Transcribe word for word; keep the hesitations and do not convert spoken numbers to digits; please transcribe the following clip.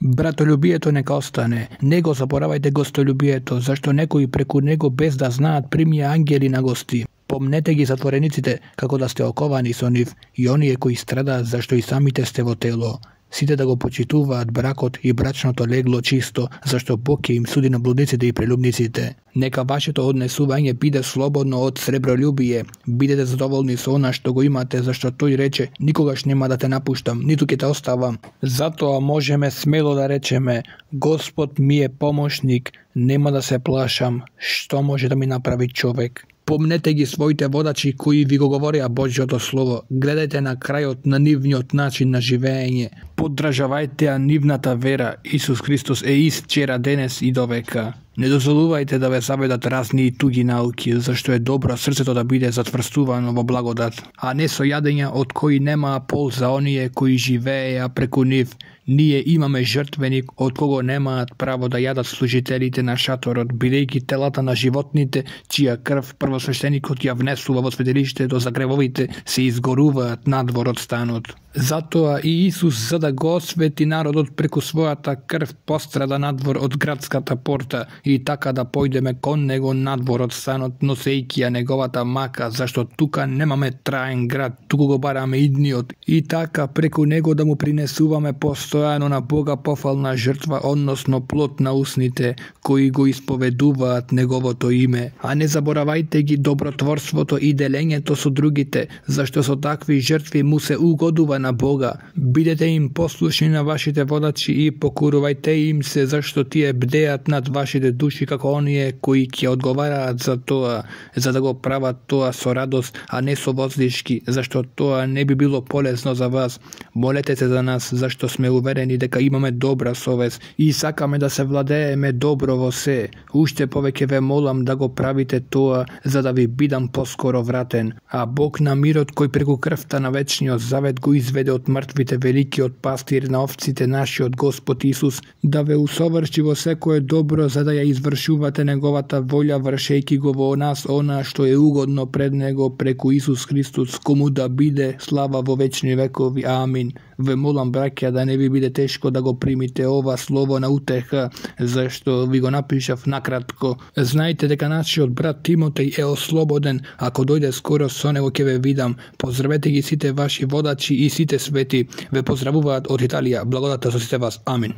Братолюбието нека остане. Не го заборавајте гостолюбието, зашто некои преку него без да знаат примија ангели на гости. Помнете ги затворениците, како да сте оковани со нив, и оние кои страдаат зашто и самите сте во тело. Сите да го почитуваат бракот и брачното легло чисто, зашто Бог ќе им суди на блудниците и прелюбниците. Нека вашето однесување биде слободно од сребролюбие. Бидете задоволни со она што го имате, зашто тој рече: никогаш нема да те напуштам, ниту ќе те оставам. Затоа можеме смело да речеме: Господ ми е помошник, нема да се плашам, што може да ми направи човек. Помнете ги своите водачи кои ви го говореа Божјото Слово. Гледајте на крајот на нивниот начин на живење. Поддржавајте ја нивната вера. Исус Христос е ист вчера, денес и довека. Не дозволувајте да ве заведат разни и туги науки, зашто е добро срцето да биде затврстувано во благодат, а не со јадења од кои немаа полза оние кои живееа преку нив. Ние имаме жртвеник од кого немаат право да јадат служителите на шаторот, бидејќи телата на животните, чија крв првосвещеникот ја внесува во светилиштето за гревовите, се изгоруваат надвор од станот. Затоа и Исус, за да го освети народот преку својата крв, пострада надвор од градската порта и така да појдеме кон него надвор од станот, носејќи ја неговата мака, зашто тука немаме траен град, туку го бараме идниот, и така преку него да му принесуваме постојано на Бога пофална жртва, односно плод на усните, кои го исповедуваат неговото име. А не заборавајте ги добротворството и делењето со другите, зашто со такви жртви му се угодува на Бога. Бидете им послушни на вашите водачи и покорувајте им се, зашто тие бдеат над вашите души како оние кои ќе одговараат за тоа, за да го прават тоа со радост, а не со возлишки, зашто тоа не би било полезно за вас. Молете се за нас, зашто сме уверени дека имаме добра совест и сакаме да се владееме добро во се. Уште повеќе ве молам да го правите тоа, за да ви бидам поскоро вратен. А Бог на мирот, кој преку крвта на вечниот завет го изведе од мртвите, великиот пастир на овците, нашиот Господ Исус, да ве усоврши во секое добро, за да ја извршувате неговата волја, вршејќи го во нас она што е угодно пред него преку Исус Христос, кому да биде слава во вечни векови. Амин. Ве молам, браќа, да не ви биде тешко да го примите ова слово на утеха, зашто ви го напишав накратко. Знајте дека нашиот брат Тимотеј е ослободен. Ако дојде скоро, со него ќе ве видам. Поздравете ги сите ваши водачи и сите свети. Ве поздравуваат од Италија. Благодата со сите вас. Амин.